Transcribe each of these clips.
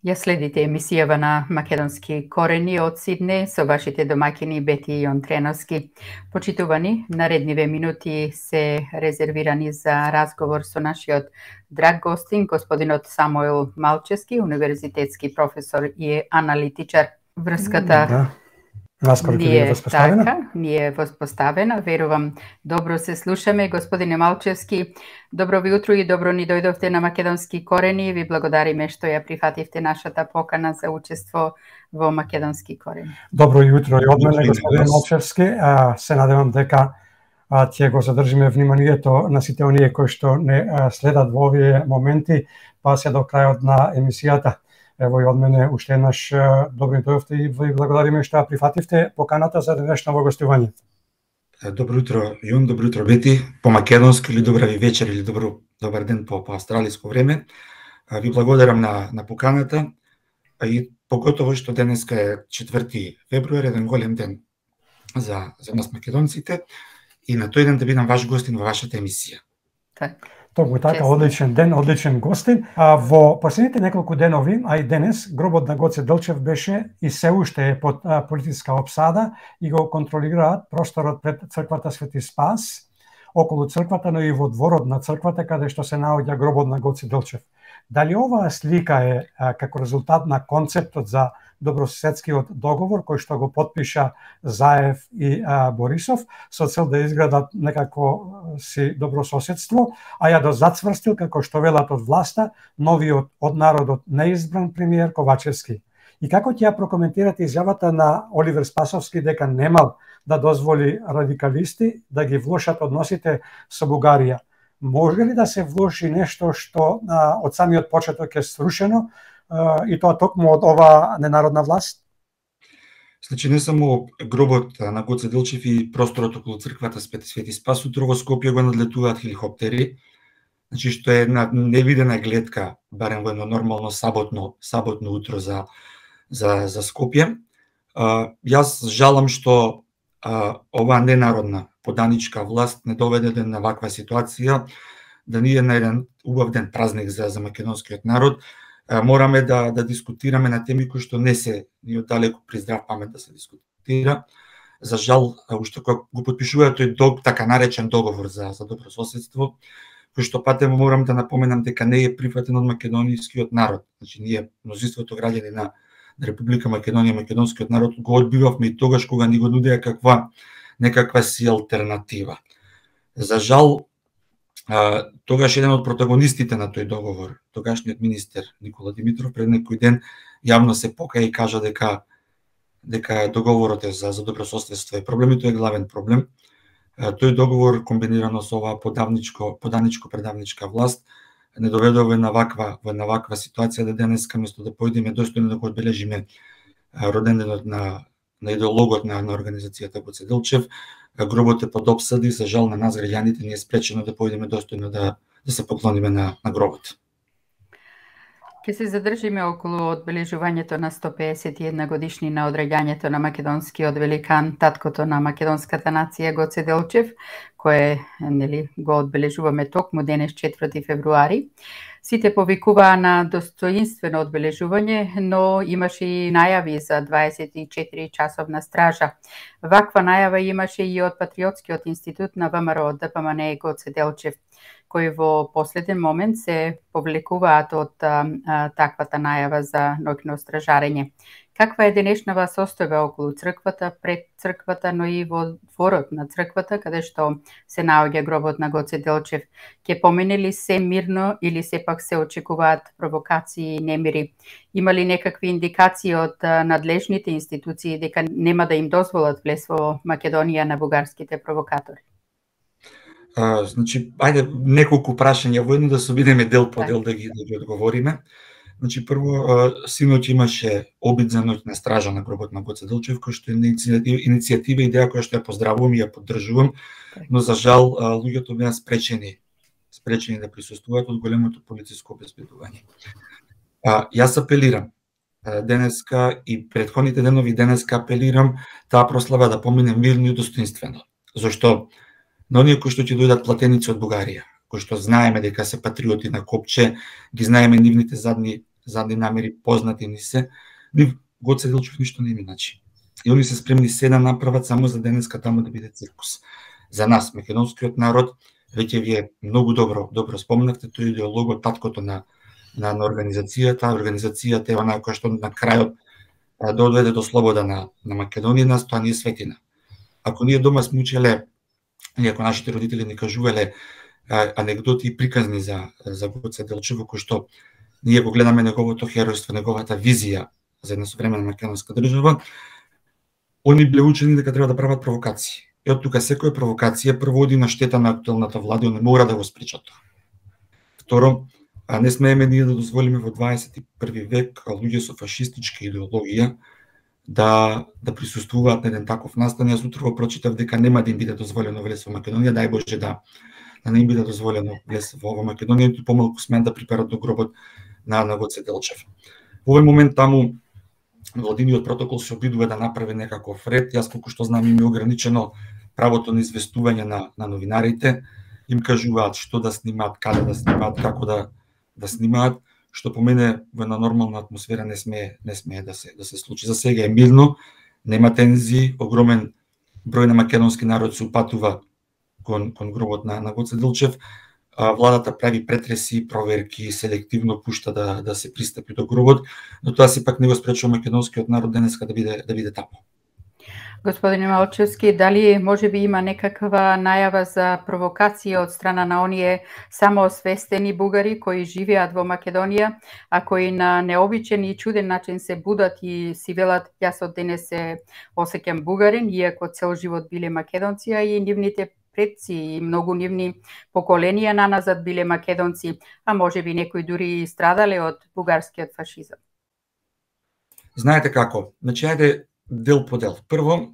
Ја следите емисијава на Македонски корени од Сиднеј со вашите домаќини Бети и Треновски. Почитувани, наредниве минути се резервирани за разговор со нашиот драг гостин, господинот Самуил Малчевски, универзитетски професор и аналитичар. Врската ние воспоставена. Верувам, добро се слушаме. Господине Малчевски, добро ви утро и добро ни дојдовте на Македонски корени. Ви благодариме што ја прифативте нашата покана за учество во Македонски корени. Добро јутро и од мене, господине Малчевски. Се надевам дека ќе го задржиме вниманието на сите оние кои што не следат во овие моменти, па се до крајот на емисијата. Ево и од мене уште еднаш добро дојдовте и ви благодариме што ја прифативте поканата за денешно гостување. Добро утро, Јун, добро утро, Бети, по македонски или добра ви вечер или добар ден по австралиско време. Ви благодарам на поканата и поготово што денеска е 4 февруари, еден голем ден за нас македонците и на тој ден да бидам ваш гостин во вашата емисија. Токму така, одличен ден, одличен гостин. Во последните неколку денови, а и денес, гробот на Гоце Делчев беше и се уште е под политичка обсада и го контролираат просторот пред црквата Свети Спас, околу црквата, но и во дворот на црквата каде што се наоѓа гробот на Гоце Делчев. Дали оваа слика е како резултат на концептот за добрососедскиот договор кој што го подпиша Заев и Борисов со цел да изградат некакво си добрососедство, а ја да зацврстил, како што велат од власта, новиот од народот неизбран премиер Ковачевски. И како ќе ја прокоментирате изјавата на Оливер Спасовски дека немал да дозволи радикалисти да ги влошат односите со Бугарија? Може ли да се влоши нешто што од самиот почеток е срушено и тоа токму од ова ненародна власт? Значи не само гробот на Гоце Делчев и просторот околу црквата Свети Спас, утро во Скопје го надлетуваат хеликоптери, значи што е една невидена гледка, барем во едно нормално саботно утро за Скопје. Јас жалам што оваа ненародна поданичка власт не доведе до ваква ситуација, да ние на еден убав ден празник за македонскиот народ мораме да дискутираме на теми кои што не се ни оддалеку при здрав памет да се дискутира. За жал, уште кога го подпишуваат тој така наречен договор за добрососедство, кој што патем морам да напоменам дека не е прифатен од македонискиот народ. Значи ние мнозинството граѓани на Република Македонија, македонскиот народ го одбивавме и тогаш кога ни го нудеа некаква си алтернатива. За жал, тогаш еден од протагонистите на тој договор, тогашниот министер Никола Димитров, пред некој ден јавно се покаја и кажа дека договорот е за добрососедство е проблем и тој е главен проблем. Тој договор комбинирано со оваа поданичко-предавничка власт не доведе во една ваква ситуација да денеска место да појдеме достојно да го одбележиме роденденот на идеологот на организацијата Гоце Делчев, гробот е под обсада и за жал на нас граѓаните ни е спречено да појдеме достојно да се поклониме на гробот. Ке се задржиме околу одбележувањето на 151 годишнина од раѓањето на македонскиот великан, таткото на македонската нација Гоце Делчев, кое го одбележуваме токму денес 4 февруари. Сите повикуваа на достоинствено одбележување, но имаше и најави за 24 часовна стража. Ваква најава имаше и од Патриотскиот институт на ВМРО ДПМН Гоце Делчев, кои во последен момент се повлекуваат од таквата најава за ноќно стражарење. Каква е денешнава состојба околу црквата, пред црквата, но и во дворот на црквата, каде што се наоѓа гробот на Гоце Делчев? Ке помине ли се мирно или сепак се очекуваат провокации и немири? Има ли некакви индикации од надлежните институции дека нема да им дозволат влез во Македонија на бугарските провокатори? Значи, ајде неколку прашања во едно да се обидеме дел по дел да ги одговориме. Значи, прво, синоќ имаше обид за ноќна стража на гробот на Гоце Делчев, кој што е иницијатива и идеја која што ја поздравувам и ја поддржувам, но за жал луѓето беа спречени да присуствуваат од големото полициско обезбедување. Јас апелирам денеска и претходните денови денеска апелирам таа прослава да помине мирно и достоинствено. Зошто на оние кои што ќе дојдат платеници од Бугарија, кои што знаеме дека се патриоти на копче, ги знаеме нивните задни задни намери, познати ни се, нив Гоце Делчев ништо не им значи. И они се спремни се да направат само за денеска таму да биде циркус. За нас, македонскиот народ, веќе вие многу добро спомнавте, тој идеологот, таткото на организацијата. Организацијата е онаа која што на крајот доведе до слобода на Македонија, нас тоа не е светина. Ако ние дома сме учеле, или ако нашите родители ни кажувале анегдоти и приказни за Гоце Делчев, кој што ние го гледаме неговото херојство, неговата визија за една современа македонска држава, они биле учени дека треба да прават провокации. И од тука секоја провокација прво оди на штета на актуелната влада, не мора да го спречат тоа. Второ, не смееме ние да дозволиме во 21 век луѓе со фашистичка идеологија да присуствуваат на еден таков настан. Јас утрово прочитав дека нема да им биде дозволено влез во Македонија, дај Боже да не им биде дозволено влез во Македонија, ниту помалку смен да приперат до гробот на Гоце Делчев. Во овој момент таму владиниот протокол се обидува да направи некаков ред. Јас колку што знам им е ограничено правото на известување на новинарите, им кажуваат што да снимаат, каде да снимаат, како да снимаат, што по мене во една нормална атмосфера не смее да се случи. За сега е мирно, нема тензии, огромен број на македонски народ се упатува кон гробот на Гоце Делчев. Владата прави претреси, проверки, селективно пушта да се пристапи до гробот, но тоа сепак не го спречува македонскиот народ денеска да биде таму. Господине Малчевски, дали може би има некаква најава за провокација од страна на оние самоосвестени бугари кои живеат во Македонија, а кои на необичен и чуден начин се будат и си велат јас од денес се осеќам бугарин, иако цел живот биле македонци, и нивните предци и многу нивни поколенија наназад биле македонци, а може би некои дури страдале од бугарскиот фашизам. Знаете како? Значи, ајде дел по дел. Прво,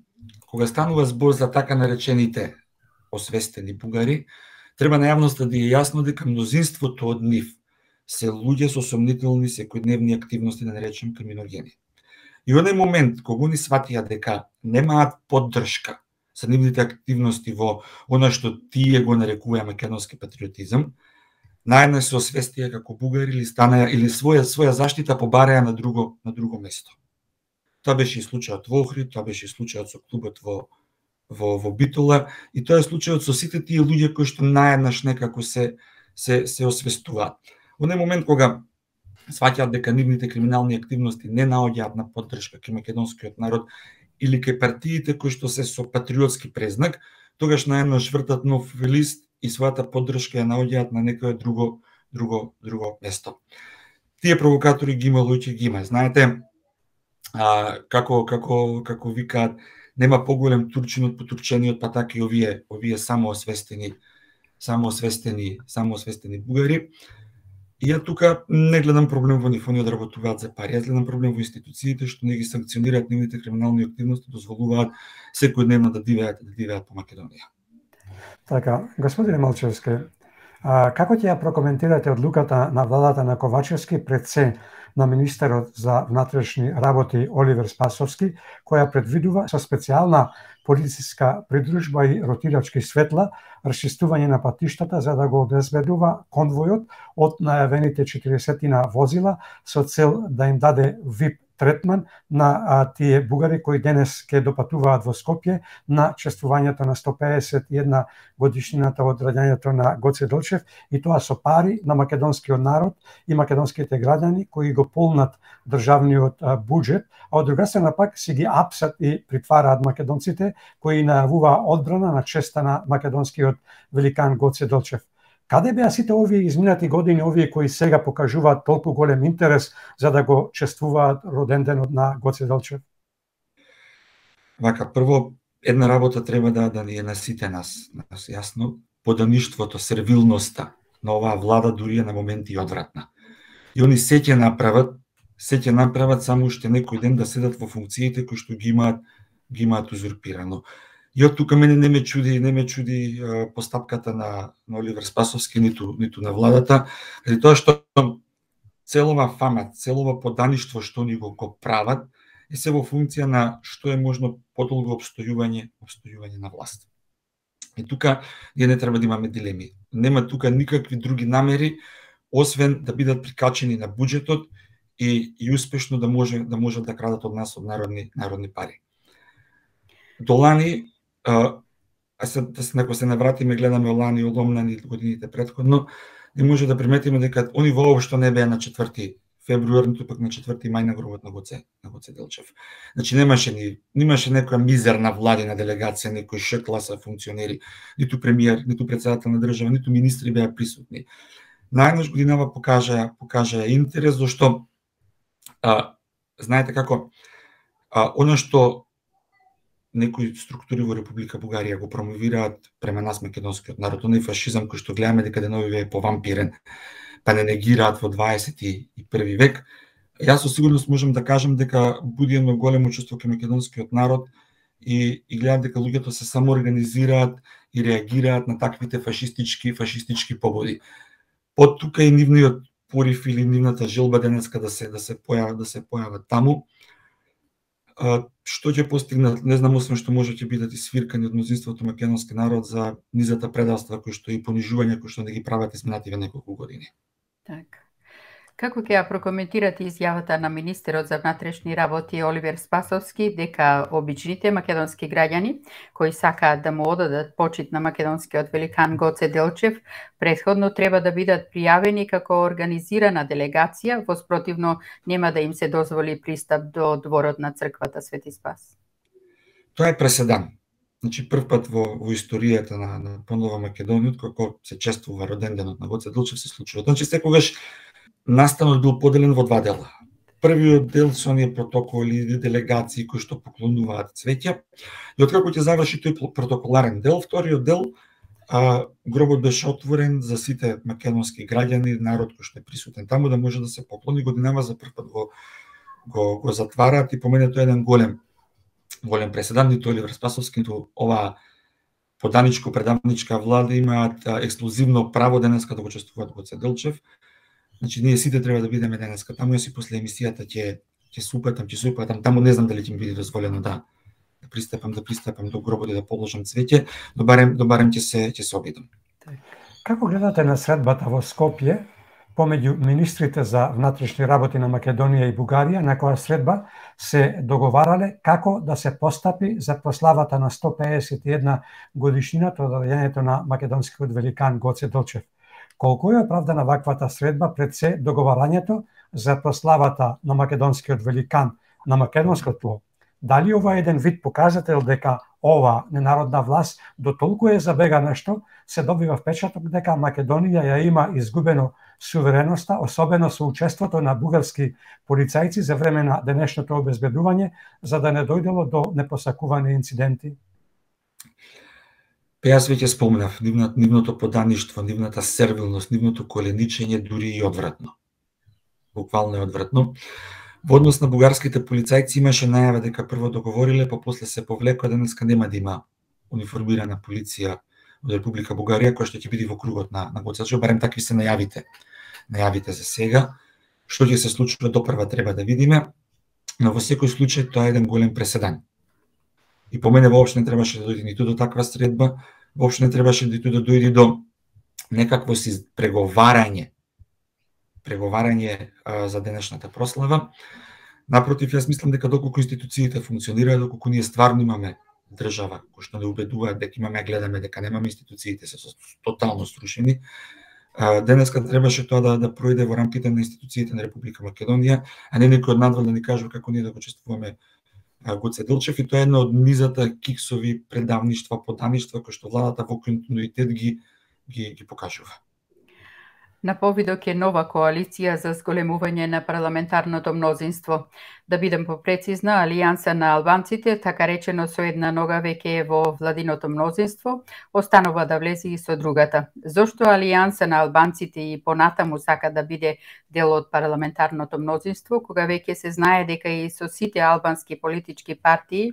кога станува збор за така наречените освестени бугари, треба на јавноста да е јасно дека мнозинството од нив се луѓе со сомнителни секојдневни активности, да наречем криминогени. И оној момент кога они сватија дека немаат поддршка за нивните активности во она што тие го нарекуваат македонски патриотизам, наеднаш се освестија како бугари или станаа или своја заштита побареа на друго место. Тоа беше и случајот во Охрид, тоа беше и случајот со клубот во Битола, и тоа е случајот со сите тие луѓе кои што наеднаш некако се освестуваат. Во оној момент кога сваќаат дека нивните криминални активности не наоѓаат на поддршка кај македонскиот народ или кај партиите кои што се со патриотски презнак, тогаш наеднаш вртат нов лист и својата поддршка ја наоѓаат на некое друго место. Тие провокатори ги има, луѓе ги има. Знаете, како викаат, нема поголем турчин од потурчениот, па така и овие самоосвестени бугари. И ја тука не гледам проблем во нив, они одработуваат за пари. Јас гледам проблем во институциите што не ги санкционираат нивните криминални активности, дозволуваат секојдневно да дивеат по Македонија. Така, господине Малчевски, како ќе ја прокоментирате одлуката на владата на Ковачевски пред се на министерот за внатрешни работи Оливер Спасовски, која предвидува со специјална полициска придружба и ротирачки светла расчистување на патиштата за да го обезбедува конвојот од најавените 40 возила со цел да им даде VIP третман на тие бугари кои денес ќе допатуваат во Скопје на чествувањето на 151 годишнината од раѓањето на Гоце Делчев, и тоа со пари на македонскиот народ и македонските граѓани кои го полнат државниот буџет, а од друга страна пак си ги апсат и притвараат македонците кои најавува одбрана на честа на македонскиот великан Гоце Делчев. Каде беа сите овие изминати години, овие кои сега покажуваат толку голем интерес за да го чествуваат роденденот на Гоце Делчев? Вака, прво, една работа треба да ни е на сите нас јасно, подаништвото, сервилноста на оваа влада дури е на моменти одвратна. И они се ќе направат само уште некој ден да седат во функциите кои што ги имаат узурпирано. И од тука мене не ме чуди постапката на Оливер Спасовски, ниту на владата, заради тоа што целова фама, целова подаништво што ни го прават, е се во функција на што е можно подолго обстојување на власт. И тука ние не треба да имаме дилеми. Нема тука никакви други намери, освен да бидат прикачени на буџетот и успешно да може да крадат од нас од народни пари. Долани, ако се навратиме, гледаме Олани и Оломнани годините предходно, не може да приметиме дека они воопшто не беа на 4 февруар, ниту пак на 4 мај на гробот на Гоце Делчев. Значи немаше некоја мизерна владина делегација, некои шекласа функционери, ниту премиер, ниту председател на држава, ниту министри беа присутни. Најнаш годинава покажа интерес, зашто знаете како она што некои структури во Република Бугарија го промовираат према нас македонскиот народ, оној фашизам кој што гледаме дека деновиве е повампирен, па не негираат во 21 век. Јас со сигурност можам да кажам дека буди едно големо чувство кај македонскиот народ и гледам дека луѓето се самоорганизираат и реагираат на таквите фашистички побуди. Под тука и нивниот порив или нивната желба денеска да се појават таму. Што ќе постигнат, не знам, освен што може ќе бидат и свиркани од мнозинството македонски народ за низата предавства кои што и понижување кои што не ги прават изминативе неколку години. Така. Како ќе ја прокоментирате изјавата на министерот за внатрешни работи Оливер Спасовски дека обичните македонски граѓани кои сакаат да му одадат почит на македонскиот великан Гоце Делчев претходно треба да бидат пријавени како организирана делегација, воспротивно нема да им се дозволи пристап до дворот на црквата Свети Спас? Тоа е преседан. Значи прв пат во историјата на понова Македонија, како се чествува роденденот на Гоце Делчев, се случува. Значи секогаш настанот бил поделен во два дела. Првиот дел со оние протоколи и делегации кои што поклонуваат цвеќа, и откако ќе заврши тој протоколарен дел, вториот дел гробот беше отворен за сите македонски граѓани, народ кој што е присутен таму да може да се поклони. Годинава за прв пат го затвараат и по мене тоа е еден голем преседан. Ниту Оливер Спасовски, ниту оваа поданичко-предавничка влада имаат ексклузивно право денеска да го чествуваат Гоце Делчев. Значи ние сите треба да бидеме денеска таму, јас и после емисијата ќе се упатам таму, не знам дали ќе ми биде дозволено да пристапам до гробот и да положам цвеќе, но барем ќе се обидам. Како гледате на средбата во Скопје помеѓу министрите за внатрешни работи на Македонија и Бугарија, на која средба се договарале како да се постапи за прославата на 151 годишнината од роѓењето на македонскиот великан Гоце Делчев? Колку е оправдана ваквата средба пред се договарањето за прославата на македонскиот великан на македонското тло? Дали ова е еден вид показател дека ова ненародна власт до толку е забегана што се добива впечаток дека Македонија ја има изгубено сувереноста, особено со учеството на бугарски полицајци за време на денешното обезбедување, за да не дојдело до непосакувани инциденти? Јас веќе спомнав, нивното подаништво, нивната сервилност, нивното коленичење дури и одвратно. Буквално е одвратно. Во однос на бугарските полицајци имаше најава дека прво договориле, па после се повлекоа, денеска нема да има униформирана полиција од Република Бугарија која што ќе биде во кругот на Гоце Делчев, барем такви се најавите за сега. Што ќе се случува допрва треба да видиме, но во секој случај тоа е еден голем преседан. И по мене воопшто не требаше да дојде ниту до таква средба, воопшто не требаше ниту да дојде до некакво си преговарање за денешната прослава. Напротив, јас мислам дека доколку институциите функционираат, доколку ние стварно имаме држава кој што не убедуваат дека имаме, гледаме дека немаме, институциите се тотално срушени, денеска требаше тоа да пројде во рамките на институциите на Република Македонија, а не некој од надвор да ни кажува како ние да го чествуваме Гоце Делчев, и тоа е една од низата киксови предавништва, подаништва кои што владата во континуитет ги покажува. На повидок е нова коалиција за зголемување на парламентарното мнозинство. Да бидам попрецизна, Алијанса на албанците, така речено со една нога веќе е во владиното мнозинство, останува да влезе и со другата. Зошто Алијанса на албанците и понатаму сака да биде дел од парламентарното мнозинство, кога веќе се знае дека и со сите албански политички партии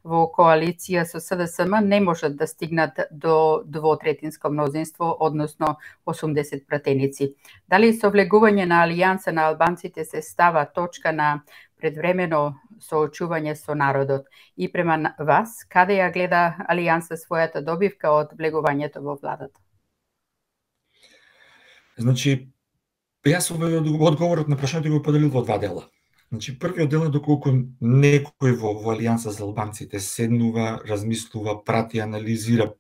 во коалиција со СДСМ не можат да стигнат до двотретинско мнозинство, односно 80 пратеници. Дали со влегување на Алијанса на албанците се става точка на предвремено соочување со народот? И према вас, каде ја гледа Алијанса својата добивка од влегувањето во владата? Значи, Јас одговорот на прашањето го поделил во два дела. Значи, првиот дел е доколку некој во Алијанса за албанците седнува, размислува, прати, анализира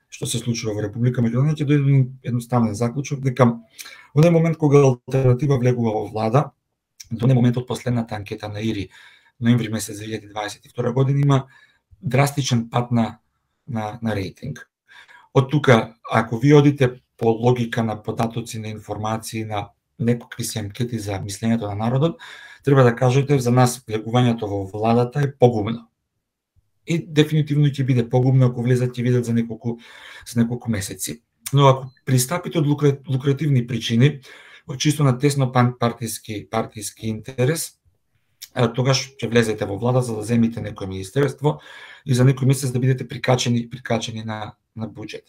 што се случува во Република Македонија, ќе дојде едноставен заклучок дека во еден момент кога алтернатива влегува во влада, до еден момент од последната анкета на ИРИ, ноември месец 2022 година, има драстичен пат на рейтинг. Од тука, ако ви одите по логика на податоци, на информации, на некакви си анкети за мислењето на народот, треба да кажете за нас влегувањето во владата е погубно. И дефинитивно ќе биде погубно ако влезат и видат за неколку месеци. Но ако пристапите од лукративни причини, од чисто на тесно партиски интерес, тогаш ќе влезете во влада за да земите некој министерство и за некој месец да бидете прикачени на буџет.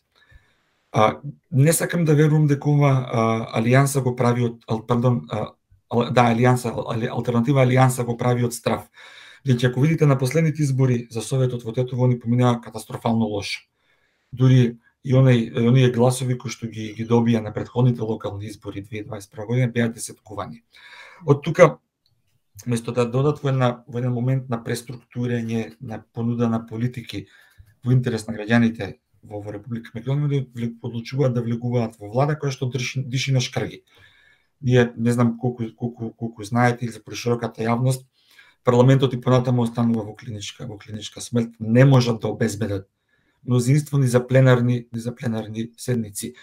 Не сакам да верувам дека ова алијанса го прави алтернатива алијанса го прави од страв. Веќе ако видите на последните избори за Советот во Тетово, они поминаа катастрофално лошо. Дури и оние гласови кои што ги добија на претходните локални избори 2021 година беа десеткувани. Од тука, место да додат во еден момент на преструктурирање, на понуда на политики во интерес на граѓаните во Република Македонија, одлучуваат да влегуваат во влада која што диши на шкрги. Ние не знам колку знаете или за прешироката јавност, парламентот и понатаму останува во клиничка смрт, не можат да обезбедат мнозинство ни за пленарни седници.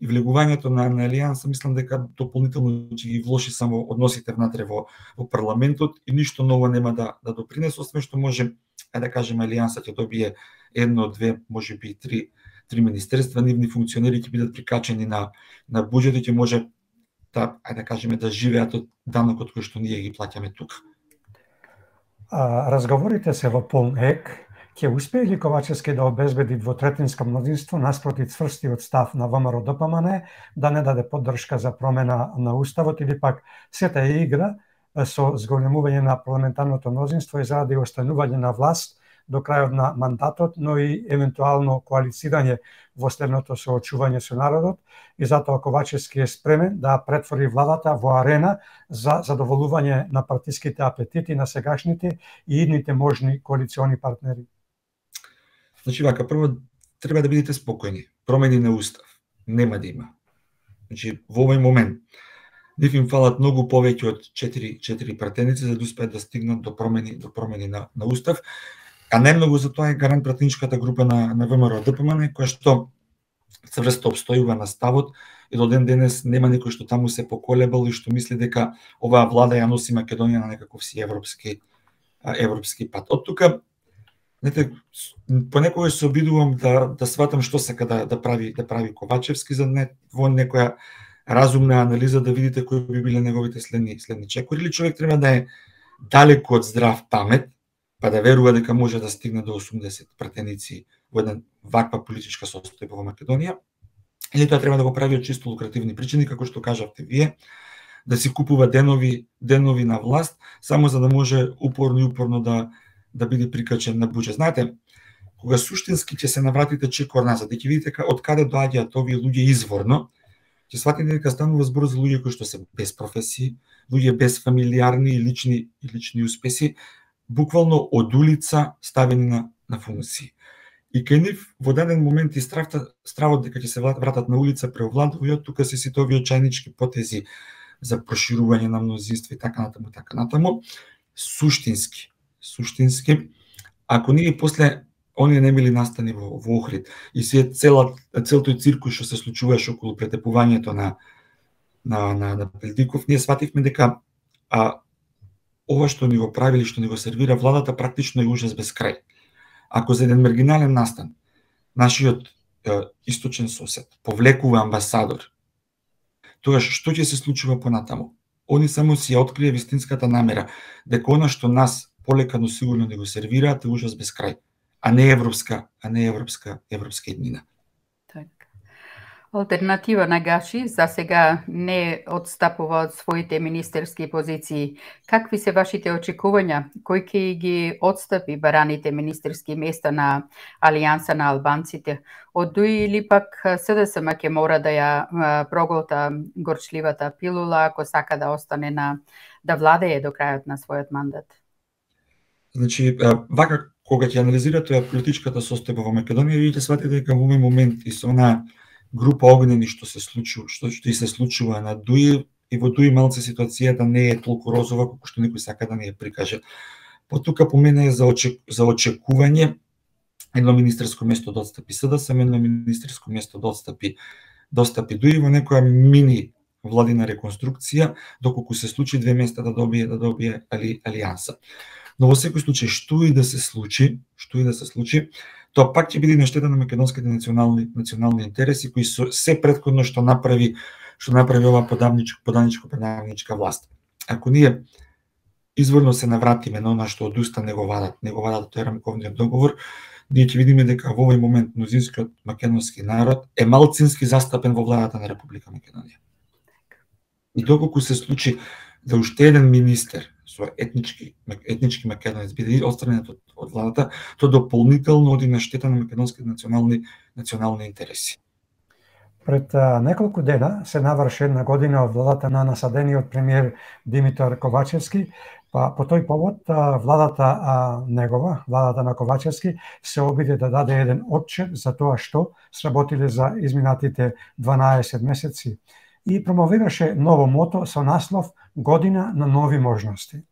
И влегувањето на алијанса мислам дека дополнително ќе ги влоши само односите внатре во парламентот и ништо ново нема да допринесе, освен што може, да кажеме, алијанса ќе добие едно, две, можеби три министерства, нивни функционери ќе бидат прикачени на буџет и ќе може да кажеме да живеат од данокот кој што ние ги плаќаме тука. Разговорите се во полн ек. Ќе успее ли Ковачевски да обезбеди двотретинско мнозинство наспроти цврстиот став на ВМРО-ДПМН да не даде поддршка за промена на уставот или пак сета е игра со зголемување на парламентарното мнозинство и заради останување на власт до крајот на мандатот, но и евентуално коалицирање во следното соочување со народот, и затоа Ковачевски е спремен да претвори владата во арена за задоволување на партиските апетити на сегашните и идните можни коалициони партнери. Значи вака, прво треба да бидете спокојни. Промени на устав нема да има. Значи во овој момент нив им фалат многу повеќе од 4 пратеници за да успеат да стигнат до промени на устав. А најмногу за тоа е гарант пратеничката група на ВМРО-ДПМН, која што цврсто обстојува на ставот и до ден денес нема никој што таму се поколебал и што мисли дека оваа влада ја носи Македонија на некаков си европски пат. Од тука, понекогаш се обидувам да сватам што сака да прави Ковачевски за во некоја разумна анализа да видите кои би биле неговите следни чекори, или човек треба да е далеку од здрав памет, па да верува дека може да стигне до 80 пратеници во една ваква политичка состојба во Македонија, или тоа треба да го прави од чисто лукративни причини, како што кажавте вие, да си купува денови на власт, само за да може упорно да биде прикачен на буџет. Знаете, кога суштински ќе се навратите чекор назад, ќе видите од каде доаѓаат овие луѓе изворно, ќе сватите дека станува збор за луѓе кои што се без професии, луѓе без фамилиарни и лични успеси, буквално од улица ставени на функции. И кај нив во даден момент и стравот дека ќе се вратат на улица преовладува, и од тука се сите овие очајнички потези за проширување на мнозинство и така натаму, суштински. Ако ние после оние не били настани во Охрид и се целот циркус што се случуваше околу претепувањето на Пелдиков, ние свативме дека ова што ни го правили, што ни го сервира владата, практично е ужас без крај. Ако за еден маргинален настан нашиот источен сосед повлекува амбасадор, тогаш што ќе се случува понатаму? Они само си ја открие вистинската намера дека она што нас полека но сигурно ни го сервираат е ужас без крај, а не европска еднина. Така. Алтернатива на Гаши за сега не отстапува од своите министерски позиции. Какви се вашите очекувања? Кој ќе ги отстапи бараните министерски места на Алијанса на албанците? Од ДУИ или пак СДСМ ќе мора да ја проголта горчливата пилула ако сака да остане да владее до крајот на својот мандат? Значи, вака кога ќе анализирате политичката состојба во Македонија, вие ќе сватите дека во овој момент и со онаа група огнени што се случува на ДУИ, и во ДУИ малце ситуацијата не е толку розова колку што некој сака да ни ја прикаже. Потука по мене е за очекување едно министерско место да отстапи СДСМ, едно министерско место да отстапи ДУИ во некоја мини владина реконструкција, доколку се случи две места да добие Алијанса. Но во секој случај што и да се случи, тоа пак ќе биде на штета на македонските национални интереси кои се претходно што направи оваа подавничка власт. Ако ние изворно се навратиме на она што одуста неговата тој рамковниот договор, ние ќе видиме дека во овој момент мнозинскиот македонски народ е малцински застапен во владата на Република Македонија. И доколку се случи да уште еден министер со етнички македонец биде отстранет од владата, тоа дополнително оди на штета на македонските национални интереси. Пред неколку дена се наврши една година од владата на насадениот премиер Димитар Ковачевски, па по тој повод владата на Ковачевски се обиде да даде еден отчет за тоа што сработиле за изминатите 12 месеци и промовираше ново мото со наслов Година на нови можности.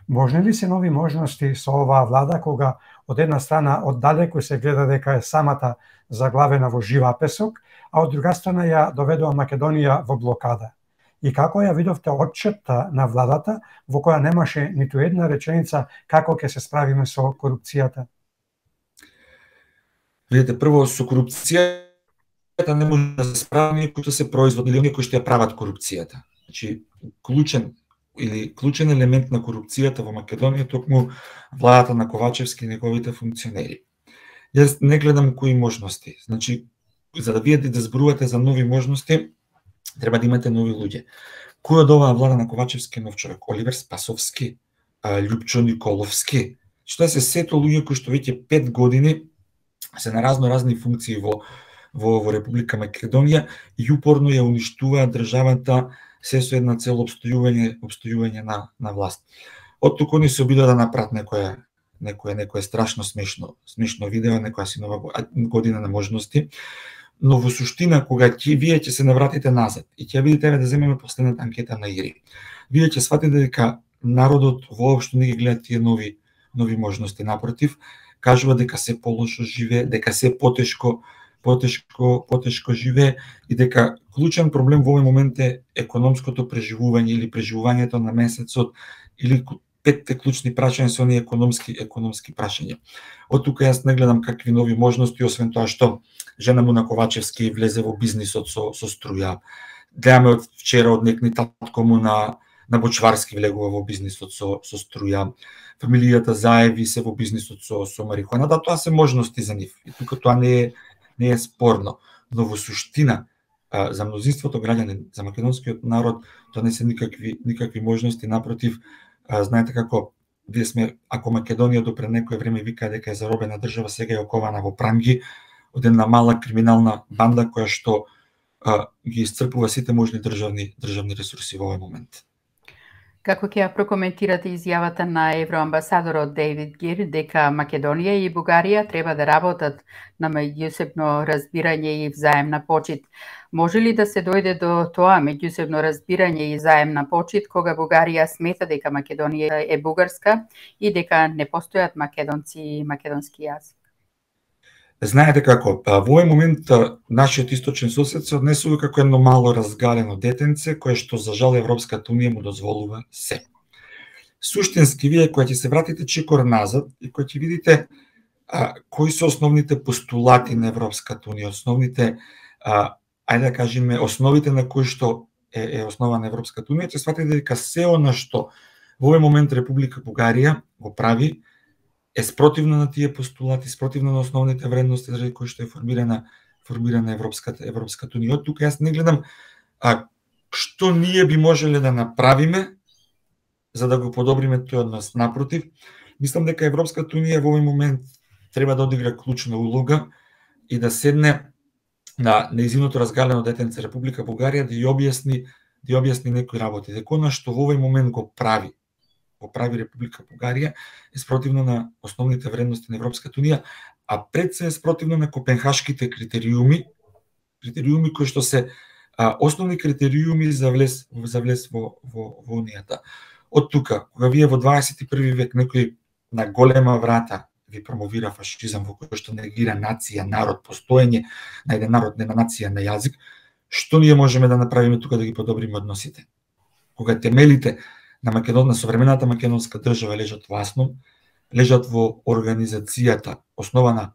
Можни ли се нови можности со оваа влада кога од една страна оддалеку се гледа дека е самата заглавена во живописок, а од друга страна ја доведува Македонија во блокада? И како ја видовте отчетта на владата во која немаше ниту една реченица како ќе се справиме со корупцијата? Видите, прво со корупцијата не може да се справи кои што се производни или кои што ја прават корупцијата. Значи, клучен елемент на корупцијата во Македонија токму владата на Ковачевски и неговите функционери. Јас не гледам кои можности. Значи, за да видите да зборувате за нови можности, треба да имате нови луѓе. Кој од оваа влада на Ковачевски е нов човек? Оливер Спасовски, Љупчо Николовски. Што се сето луѓе кои што веќе 5 години се на разни функции во Република Македонија и упорно ја уништуваат државата се со една цел обстојување на власт. Од тука ни се обидува да направат некое страшно смешно видео, некоја синова година на можности, но во суштина кога вие ќе се навратите назад и ќе видите да земеме последната анкета на ИРИ, вие ќе сватите дека народот воопшто не ги гледа тие нови можности, напротив, кажува дека се полошо живее, дека се потешко живее и дека клучен проблем во овој момент е економското преживување или преживувањето на месецот или 5 клучни прашања со оние економски прашања. Од тука јас не гледам какви нови можности, освен тоа што жена му на Ковачевски влезе во бизнисот со струја. Гледаме од вчера од некни татко му на Бочварски влегува во бизнисот со струја. Фамилијата Заеви се во бизнисот со марихуана. Да, тоа се можности за нив. И тука тоа не е спорно. Но во суштина, за мнозинството граѓани, за македонскиот народ, тоа не се никакви можности, напротив, знаете како вие сме, ако Македонија до пред некое време вика дека е заробена држава, сега е окована во пранги од една мала криминална банда која што ги исцрпува сите можни државни ресурси во овој момент. Како ќе ја прокоментирате изјавата на евроамбасадорот Дейвид Гир дека Македонија и Бугарија треба да работат на меѓусебно разбирање и взаемна почит? Може ли да се дојде до тоа меѓусебно разбирање и взаемна почит кога Бугарија смета дека Македонија е бугарска и дека не постојат македонци и македонски јазик? Знаете како, во овој момент нашиот источен сосед се однесува како едно мало разгалено детенце кое што за жал Европската унија му дозволува се. Суштински вие кога ќе се вратите чекор назад и кога ќе видите кои се основните постулати на Европската унија, основните ајде да кажеме основите на кои што е основа на Европската унија, ќе сватите дека се она што во овој момент Република Бугарија го прави е спротивно на тие постулати, спротивно на основните вредности заради кои што е формирана формирана Европската унија. Од тука јас не гледам што ние би можеле да направиме за да го подобриме тој однос. Напротив, мислам дека Европската унија во овој момент треба да одигра клучна улога и да седне на нејзиното разгалено детенце Република Бугарија да ја објасни некои работи. Дека она што во овој момент го прави Република Бугарија е спротивно на основните вредности на Европската унија, а пред се е спротивно на копенхашките критериуми кои што се основни критериуми за влез во унијата. Од тука, кога вие во 21 век некој на голема врата ви промовира фашизам во кој што негира нација, народ, постоење на еден народ, не на нација, на јазик, што ние можеме да направиме тука да ги подобриме односите? Кога темелите на современата македонска држава лежат во основ, лежат во организацијата основана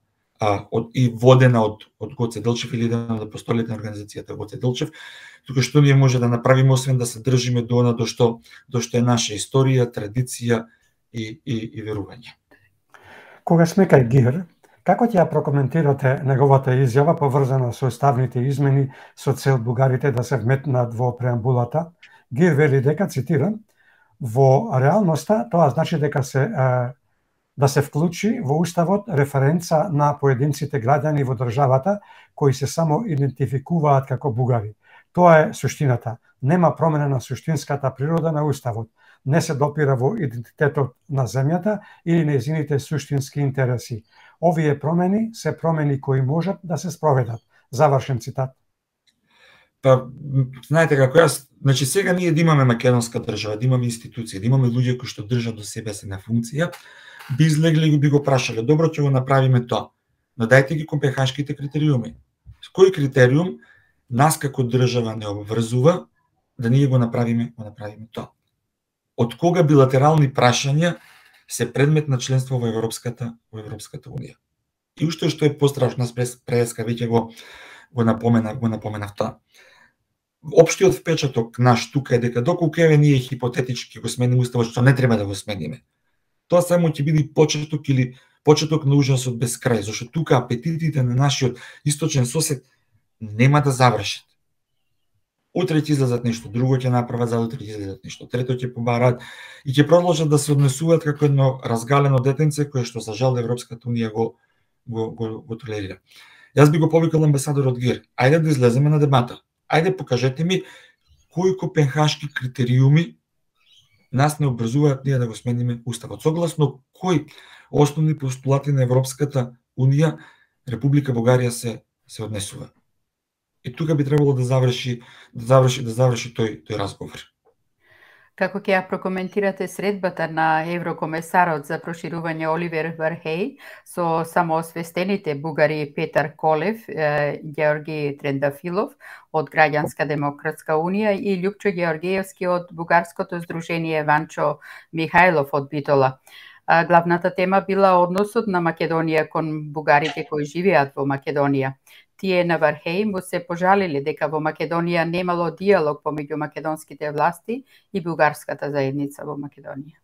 и водена од Гоце Делчев или еден од апостолите на организацијата Гоце Делчев, тука што ние може да направиме освен да се држиме до она до што е наша историја, традиција и верување. Кога сме кај Гир, како ќе ја прокоментирате неговата изјава поврзана со уставните измени со цел бугарите да се вметнат во преамбулата? Гир вели дека, цитирам, во реалноста тоа значи дека да се вклучи во уставот референца на поединците граѓани во државата кои се само идентификуваат како бугари. Тоа е суштината. Нема промена на суштинската природа на уставот. Не се допира во идентитетот на земјата или нејзините суштински интереси. Овие промени се промени кои можат да се спроведат. Завршен цитат. Па, знаете како јас, значи сега ние да имаме македонска држава, да имаме институции, да имаме луѓе кои што држат до себе се на функција, би излегли и би го прашале, добро, ќе го направиме тоа, но дајте ги копенхашките критериуми. Кој критериум нас како држава не обврзува да ние го направиме тоа? Од кога билатерални прашања се предмет на членство во Европската унија? И уште што е пострашно, преска веќе го напоменав тоа. Општиот впечаток наш тука е дека доколку еве ние хипотетички го смениме уставот, што не треба да го смениме, тоа само ќе биде почеток на ужасот без крај, зашто тука апетитите на нашиот источен сосед нема да завршат. Утре ќе излезат нешто друго, ќе направат, за утре ќе излезат нешто трето, ќе побараат и ќе продолжат да се однесуваат како едно разгалено детенце кое што за жал Европската унија го толерира. Јас би го повикал амбасадорот Гир, ајде да излеземе на дебата. Ајде покажете ми кои копенхашки критериуми нас не обврзуваат ние да го смениме уставот. Согласно кои основни постулати на Европската унија Република Бугарија се однесува. И тука би требало да заврши тој разговор. Како ќе ја прокоментирате средбата на еврокомесарот за проширување Оливер Вархеј со самоосвестените бугари Петар Колев, Георги Трендафилов од Граѓанска демократска унија и Љупчо Георгиевски од Бугарското здружение Ванчо Михајлов од Битола? Главната тема била односот на Македонија кон бугарите кои живеат во Македонија. Тие на Вархеј му се пожалиле дека во Македонија немало диалог помеѓу македонските власти и бугарската заедница во Македонија.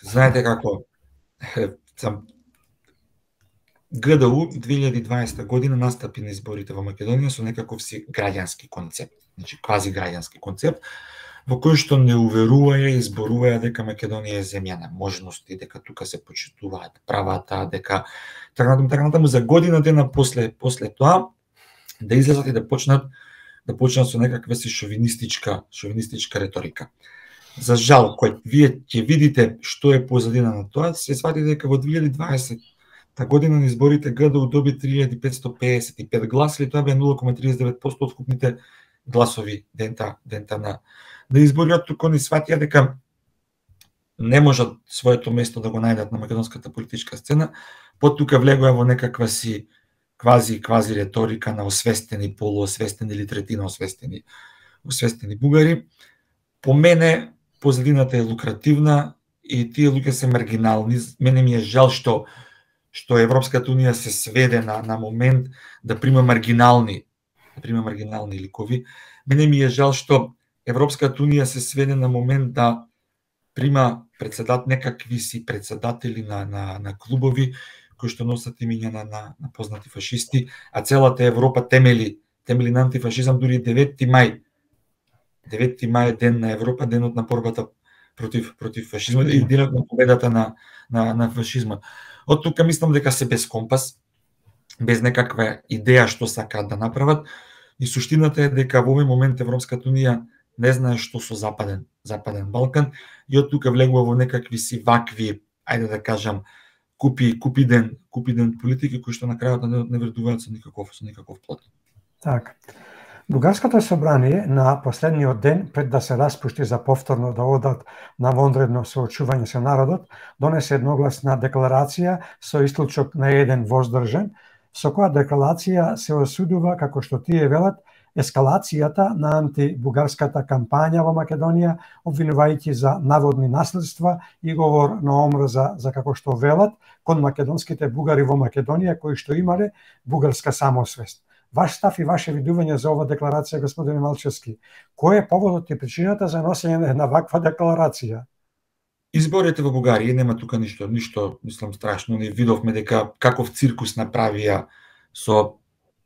Знаете како, ГДУ 2020 година настапи на изборите во Македонија со некаков си граѓански концепт, значи квази граѓански концепт, во кој што не уверуваја и изборуваја дека Македонија е земја на можности, дека тука се почитуваат правата, дека така натаму за година дена после тоа да излезат и да почнат со некаква си шовинистичка реторика. За жал, кој вие ќе видите што е позадина на тоа, се свати дека во 2020 година на изборите ГДУ доби 3555 гласа, или тоа бе 0,39% од вкупните гласови дента на изборите. Тука они сватија дека не можат своето место да го најдат на македонската политичка сцена, тука влегоа во некаква си квази реторика на освестени, полуосвестени или третина освестени бугари. По мене позадината е лукративна и тие луѓе се маргинални. Мене ми е жал што Европската унија се сведе на момент да прима маргинални ликови. Мене ми е жал што Европската унија се сведе на момент да прима некакви си председатели на клубови кои што носат имиња на познати фашисти, а целата Европа темели на антифашизам, дури 9 мај. 9 мај е ден на Европа, денот на борбата против фашизмот и денот на победата на фашизмот. Од тука мислам дека се без компас, без некаква идеја што сакаат да направат, и суштината е дека во овој момент Европската унија не знае што со Западен Балкан, и од тука влегува во некакви си вакви, ајде да кажам, купиден политики кои што на крајот не вредуваат со никаков плод. Така. Бугарското собрание на последниот ден пред да се распушти за повторно да одат на вонредно соочување со народот, донесе едногласна декларација со исклучок на еден воздржан, со која декларација се осудува, како што тие велат, ескалацијата на антибугарската кампања во Македонија, обвинувајќи за наводни наследства и говор на омрза за како што велат кон македонските бугари во Македонија кои што имале бугарска самосвест. Ваш став и ваше видување за ова декларација, господин Малчевски, кој е поводот и причината за носење на ваква декларација? Изборите во Бугарија нема тука ништо, мислам, страшно. Не видовме дека каков циркус направија со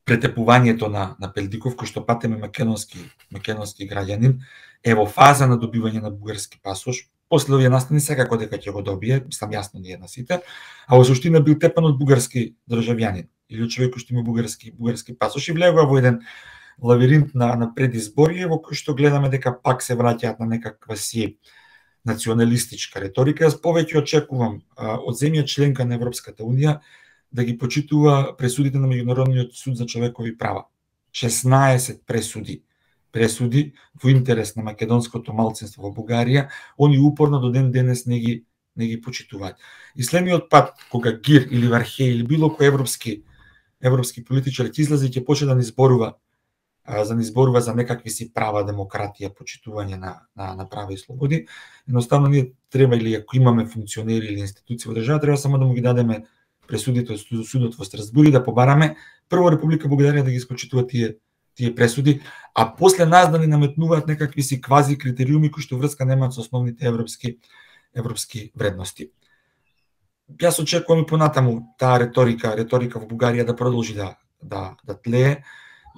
претепувањето на Пелдиков, кој што патеме македонски граѓанин, е во фаза на добивање на бугарски пасош. После овие настани секако дека ќе го добие, мислам јасно ние на сите, а во суштина бил тепан од бугарски државјанин или човек кој што има бугарски пасош, и влегува во еден лавиринт на предизборие во кој што гледаме дека пак се враќаат на некаква си националистичка риторика. Јас повеќе очекувам од земја членка на Европската унија да ги почитува пресудите на Меѓународниот суд за човекови права. 16 пресуди во интерес на македонското малцинство во Бугарија, они упорно до ден денес не ги почитуваат. И следниот пат кога Гир или Вархеј или било кој европски политичар ќе излезе и ќе почне да ни зборува за некакви си права, демократија, почитување на права и слободи, едноставно ние треба, или ако имаме функционери или институции во држава, треба само да му ги дадеме пресудите од судот во Страсбург и да побараме прво Република Бугарија да ги испочитува тие пресуди, а после нас да ни наметнуваат некакви си квази критериуми кои што врска немаат со основните европски вредности. Јас очекувам и понатаму таа риторика во Бугарија да продолжи да тлее,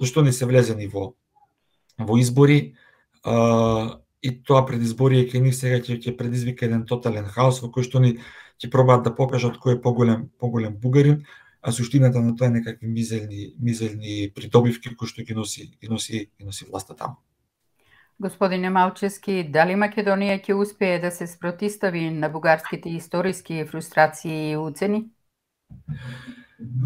зашто не се влезени во избори, и тоа предизборие кај нив сега ќе предизвика еден тотален хаос во кој што ни ќе пробаат да покажат кој е поголем бугарин, а суштината на тоа е некакви мизерни придобивки кои што ги носи власта таму. Господине Малчевски, дали Македонија ќе успее да се спротистави на бугарските историски фрустрации и уцени?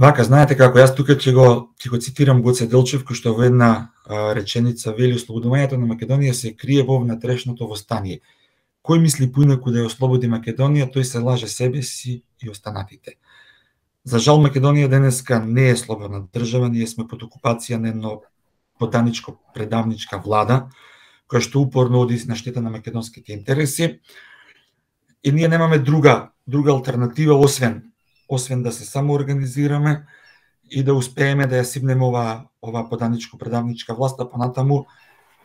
Вака, знаете како, јас тука ќе го цитирам Гоце Делчев, кој што во една реченица вели: ослободувањето на Македонија се крие во внатрешното востание. Кој мисли поинаку да ја ослободи Македонија, тој се лаже себе си и останатите. За жал, Македонија денеска не е слободна држава, ние сме под окупација на едно подавничко-предавничка влада, која што упорно оди на штета на македонските интереси, и ние немаме друга алтернатива освен да се самоорганизираме и да успееме да ја сипнеме ова подавничко-предавничка власт, а понатаму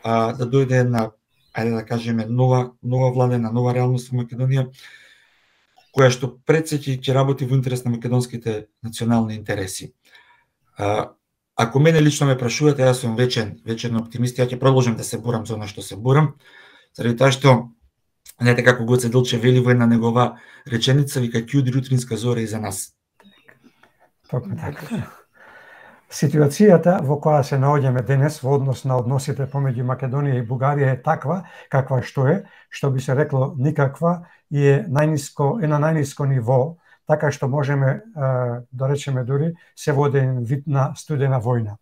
да дојде една, ајде да кажеме, нова владена, нова реалност во Македонија, која што пред се ќе работи во интерес на македонските национални интереси. Ако мене лично ме прашувате, јас сум вечен оптимист, ја ќе продолжам да се борам за она што се борам, заради тоа што, знаете како Гоце Делчев вели во една негова реченица, вика: ќе удри утринска зора и за нас. Токму така. Ситуацијата во која се наоѓаме денес во однос на односите помеѓу Македонија и Бугарија е таква каква што е, што би се рекло никаква, и е на најниско ниво, така што можеме да речеме дури се води вид на студена војна.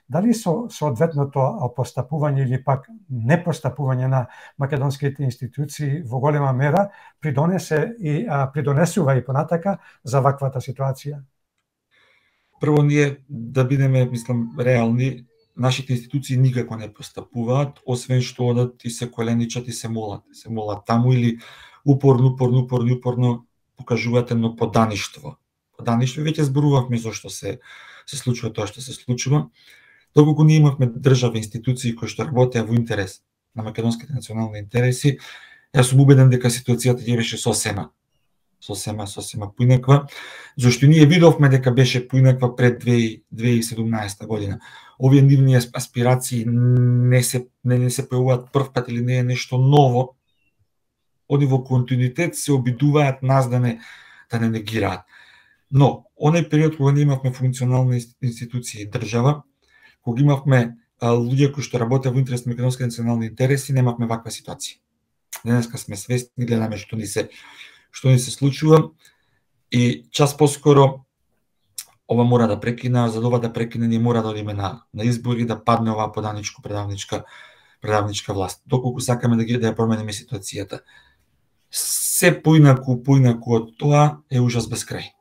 Дали со соодветното постапување или пак непостапување на македонските институции во голема мера придонесува и понатака за ваквата ситуација? Прво, ние да бидеме, мислам, реални, нашите институции никако не постапуваат, освен што одат и се коленичат и се молат таму, или упорно покажуваат едно подаништво. Веќе зборувавме зошто се случува тоа што се случува. Доколку ние имавме држава, институции кои што работеа во интерес на македонските национални интереси, јас сум убеден дека ситуацијата ќе беше сосема сосема поинаква, зашто ние видовме дека беше поинаква пред 2017 година. Овие нивни аспирации не се појавуваат прв пат или не е нешто ново, они во континуитет се обидуваат нас да не негираат. Но, оној период кога ние имавме функционални институции и држава, кога имавме луѓе кои што работеа во интерес на македонски национални интереси, немавме ваква ситуација. Денеска сме свесни, гледаме што ни се случува и час поскоро ова мора да прекина, за ова да прекине ние мора да одиме на избори, да падне оваа подавничка власт. Доколку сакаме да ја промениме ситуацијата. Се поинаку од тоа е ужас без крај.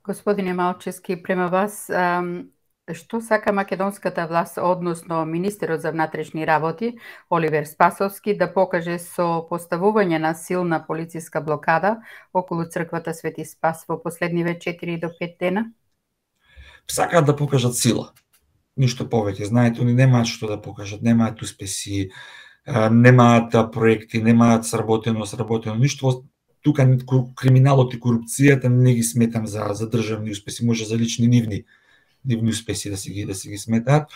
Господине Малчевски, према вас, што сака македонската власт, односно министерот за внатрешни работи Оливер Спасовски, да покаже со поставување на силна полициска блокада околу црквата Свети Спас во последниве 4 до 5 дена? Сакаат да покажат сила. Ништо повеќе. Знаете, они немаат што да покажат, немаат успеси, немаат проекти, немаат сработено ништо. Тука криминалот и корупцијата не ги сметам за државни успеси, може за лични нивни успеси да си ги сметаат.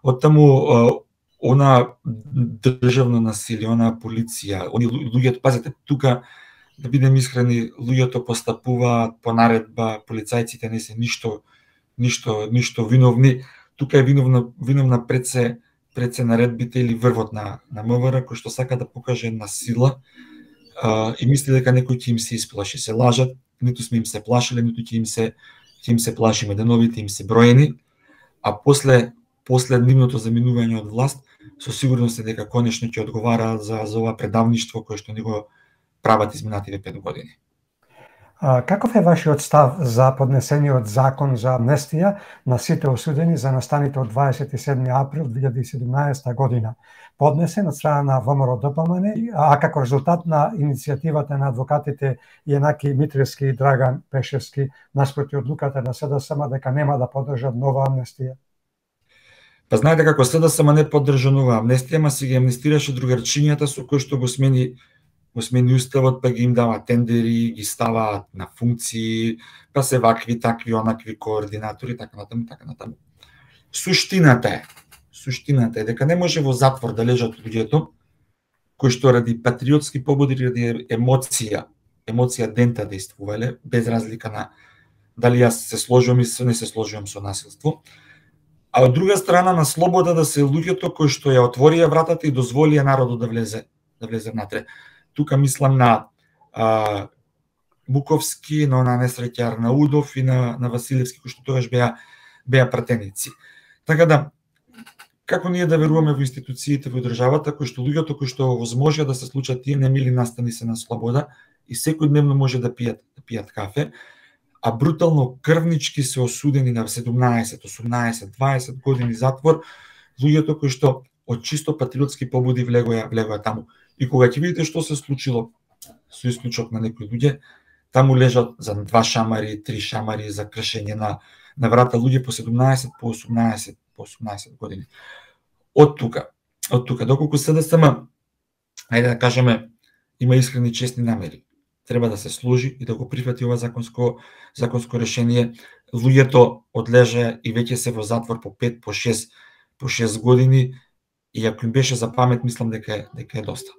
Оттаму она државно насилие, она полиција, они луѓето, пазете, тука да бидем искрени, луѓето постапуваат по наредба, полицајците не се ништо виновни. Тука е виновна пред се наредбите или врвот на МВР, кој што сака да покаже на сила и мисли дека некој ќе им се исплаши. Се лажат, ниту сме им се плашиле, ниту ќе им се плашиме, деновите им се броени, а после нивното заминување од власт, со сигурност е дека конечно ќе одговара за ова предавништво кое што ни го прават изминативе 5 години. Каков е вашиот став за поднесениот закон за амнестија на сите осудени за настаните од 27. април 2017 година, поднесен од страна на ВМРО-ДПМН, а како резултат на иницијативата на адвокатите Јанаки Митревски и Драган Пешевски наспроти одлуката на СДСМ дека нема да поддржат нова амнестија? Па знаете како СДСМ не поддржа нова амнестија, ма си ги амнестираше другарчињата со кои што го смени уставот, па ги им дава тендери, ги ставаат на функции, па се вакви, такви, онакви координатори, така натаму. Суштината е дека не може во затвор да лежат луѓето кои што ради патриотски побуди, ради емоција дента действувале, без разлика на дали јас се сложувам или не се сложувам со насилство. А од друга страна на слобода да се луѓето кои што ја отворија вратата и дозволија народот да влезе внатре. Тука мислам на Буковски, на несреќа Арнаудов и на Василевски, кои што тогаш беа пратеници. Така да, како ние да веруваме во институциите во државата, кои што луѓето кои што возможија да се случат тие немили настани се на слобода и секојдневно може да пијат кафе, а брутално крвнички се осудени на 17, 18, 20 години затвор, луѓето кои што од чисто патриотски побуди влегоја таму. И кога ќе видите што се случило, со исклучок на некои луѓе, таму лежат за 2 шамари, 3 шамари за кршење на врата луѓе по 17, по 18 години. Од тука, доколку СДСМ, ајде да кажеме, има искрени честни намери, треба да се сложи и да го прифати ова законско решение. Луѓето одлежа и веќе се во затвор по 5, по 6 години, и ако им беше за памет, мислам дека е доста.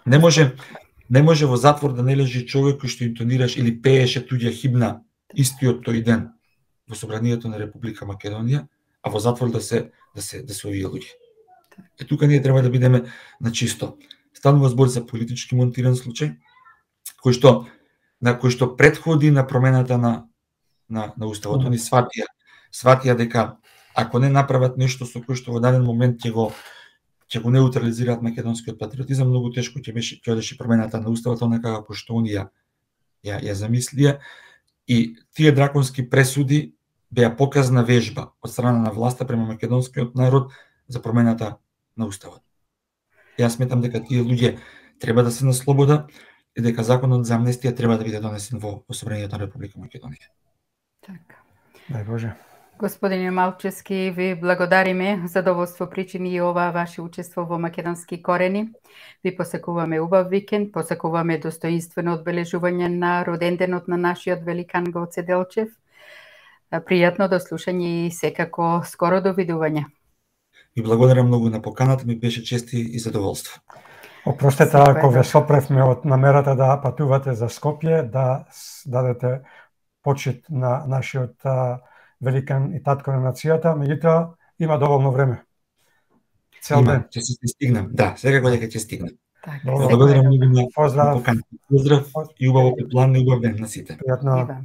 Не може во затвор да не лежи човек кој што интонираш или пееше туѓа химна истиот тој ден во собранието на Република Македонија, а во затвор да се овие луѓе. Тука ние треба да бидеме на чисто. Станува збор за политички монтиран случај, кој што претходи на промената на уставот. Они сватија дека ако не направат нешто со кој што во даден момент ќе го неутрализираат македонскиот патриотизам, многу тешко ќе одеше промената на уставот онака како што они ја замислија, и тие драконски пресуди беа показна вежба од страна на власта према македонскиот народ за промената на уставот. Јас сметам дека тие луѓе треба да се на слобода и дека законот за амнестија треба да биде донесен во собранието на Република Македонија. Така. Дај Боже. Господине Малчевски, ви благодариме. Задоволство причини и ова ваше учество во Македонски корени. Ви посакуваме убав викенд, посакуваме достоинствено одбележување на роденденот на нашиот великан Гоце Делчев. Пријатно до слушање и секако скоро довидување. Ви благодарам многу на поканата, ми беше чест и задоволство. Опростете ако ве сопревме од намерата да патувате за Скопје, да дадете почит на нашиот великан и татко на нацијата, меѓутоа има доволно време. Цел ден. Ќе се стигнам. Да, секако дека ќе стигнам. Така, благодарам многу на Поздрав. поканата. Поздрав и убаво план и убав ден на сите. Пријатно.